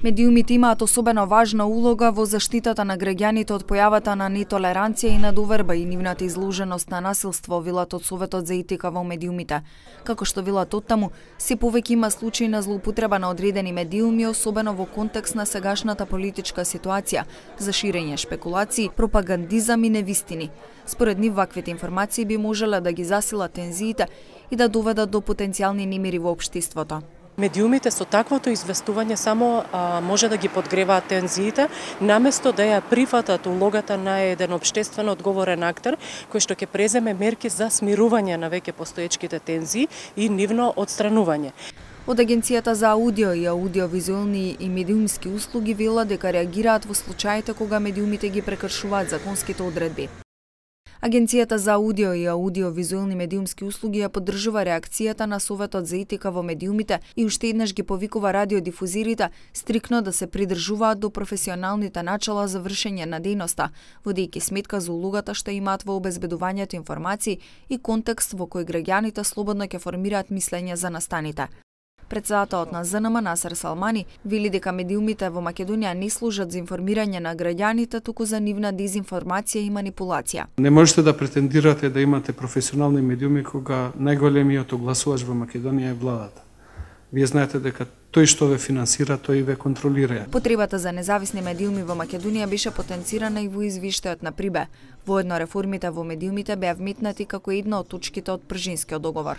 Медиумите имаат особено важна улога во заштитата на граѓаните од појавата на нетолеранција и надоверба и нивната изложеност на насилство, велат од Советот за етика во медиумите. Како што велат оттаму, се повеќе има случаи на злоупотреба на одредени медиуми, особено во контекст на сегашната политичка ситуација, за ширење шпекулации, пропагандизам и невистини. Според нив, ваквите информации би можеле да ги засилат тензиите и да доведат до потенцијални немири во општеството. Медиумите со таквото известување само може да ги подгреваат тензиите, наместо да ја прифатат улогата на еден општествено одговорен актер, кој што ќе преземе мерки за смирување на веќе постоечките тензии и нивно отстранување. Од Агенцијата за аудио и аудиовизуелни и медиумски услуги велат дека реагираат во случаите кога медиумите ги прекршуваат законските одредби. Агенцијата за аудио и аудиовизуелни медиумски услуги ја поддржува реакцијата на Советот за етика во медиумите и уште еднаш ги повикува радиодифузирите стрикно да се придржуваат до професионалните начала за вршење на дејноста, водејќи сметка за улогата што имаат во обезбедувањето информации и контекст во кој граѓаните слободно ќе формираат мислење за настаните. Претседателот на ЗНМ Насер Салмани вели дека медиумите во Македонија не служат за информирање на граѓаните, туку за нивна дезинформација и манипулација. Не можете да претендирате да имате професионални медиуми кога најголемиот огласувач во Македонија е владата. Вие знаете дека тој што ве финансира, тој ве контролира. Потребата за независни медиуми во Македонија беше потенцирана и во извештајот на Прибе. Воедно реформите во медиумите беа вметнати како една од точките од Пржинскиот договор.